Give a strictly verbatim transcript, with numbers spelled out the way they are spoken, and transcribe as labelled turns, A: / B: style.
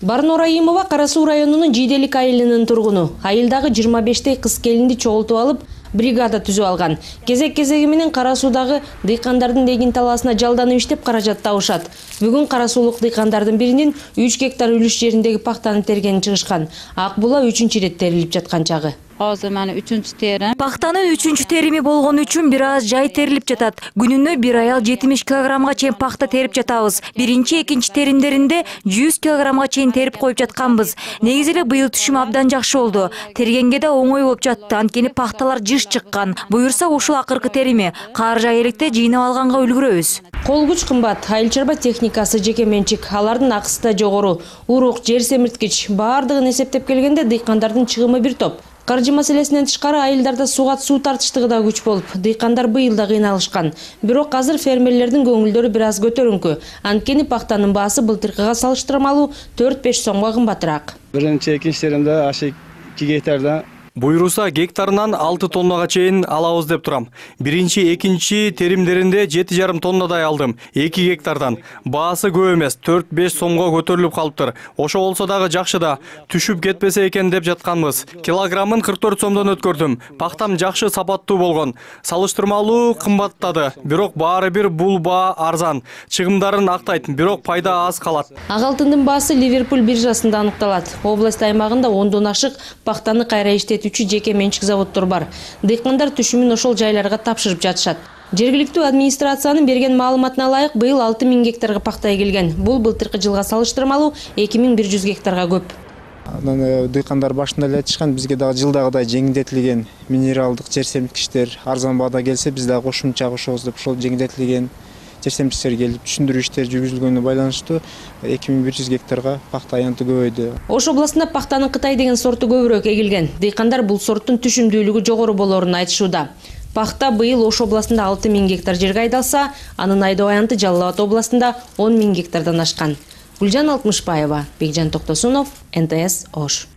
A: Барнура Раимова Кара Суу районунун Жийделик айылынын тургуну. Айылдагы жыйырма бештей кыз келинди чогултуп алып, бригада түзүп алган. Кезек-кезеги менен Кара Суудагы дыйкандардын эгин талаасына жалданып иштеп каражат табышат. Бүгүн Кара Суулук дыйкандардын биринин үч гектар үлүш жериндеги пахтаны тергени чыгышкан. Ак була үчүнчү ирет терилип жаткан чагы.
B: Азыр мана үчүнчү терим.
C: Пахтанын үчүнчү терими болгон үчүн бир аз жай терилип жатат. Күнүнө бир аял жетимиш килограммга чейин пахта терип жатабыз. Биринчи, экинчи теримдеринде жүз килограммга чейин терип коюп жатканбыз. Негизи эле быйыл түшүм абдан жакшы болду. Тергенге да оңой болуп жатты. Анткени пахталар жыш чыккан. Буюрса ушул акыркы терими. Кар жай электе жыйнап алганга үлгүрөбүз.
A: Кол күч кымбат, айыл чарба техникасы жеке менчик, алардын акысы да жогору. Урук, жер семирткич баардыгын эсептеп келгенде дыйкандардын чыгымы бир топ. Каржы маселесинен тышкары айылдарда сууга суу тартыштыгы да күч болуп, дыйкандар быйыл да кыйналышкан. Бирок азыр фермерлердин көңүлдөрү бир аз көтөрүңкү. Анткени пахтанын баасы былтыркыга салыштырмалуу төрт-беш сомго кымбатыраак.
D: Биринчи, экинчи теримде ашы эки гектарда
E: Буйруса гектарынан алты тоннага чейин алабыз деп турам. Биринчи, экинчи теримдеринде жети жарым тоннадай алдым. эки гектардан. Баасы көп эмес, төрт-беш сомго көтөрүлүп калыптыр. Ошо болсо дагы жакшы да, түшүп кетпесе экен деп жатканбыз. Килограммын кырк төрт сомдон өткөрдүм. Пахтам жакшы сапаттуу болгон. Салыштырмалуу кымбаттады. Бирок баары бир бул баа арзан. Чыгымдарын актайт, бирок пайда аз калат.
A: Ак алтындын баасы Ливерпуль биржасында аныкталат. Область аймагында ондон ашык пахтаны кайра иштетүүчү жеке менчик заводдор бар. Дыйкандар түшүмүн ошол жайларга тапшырып жатышат. Жергиликтүү администрациянын берген маалыматына ылайык быйыл алты миң гектарга пахта эгилген. Бул былтыркы жылга салыштырмалуу эки миң бир жүз гектарга көп.
D: Дыйкандар башында эле айтышкан, бизге дагы жылдагыдай жеңилдетилген минералдык жер семирткичтер арзан баада келсе, биз дагы кошумча кошобуз деп ошол жеңилдетилген жер семирткичтер келип түшүндүрүү иштери жүргүзүлгөнүнө байланыштуу эки миң бир жүз гектарга пахта аянты көбөйдү.
A: Ош областында пахтанын Кытай деген сорту көбүрөөк эгилген. Дыйкандар бул сорттун түшүмдүүлүгү жогору болоорун айтышууда. Пахта быйыл Ош областында алты миң гектар жерге айдалса, анын айдоо аянты Жалал Абад областында он миң гектардан ашкан. Гүлжан Алтмышбаева, Бекжан Токтосунов, эн тэ эс Ош.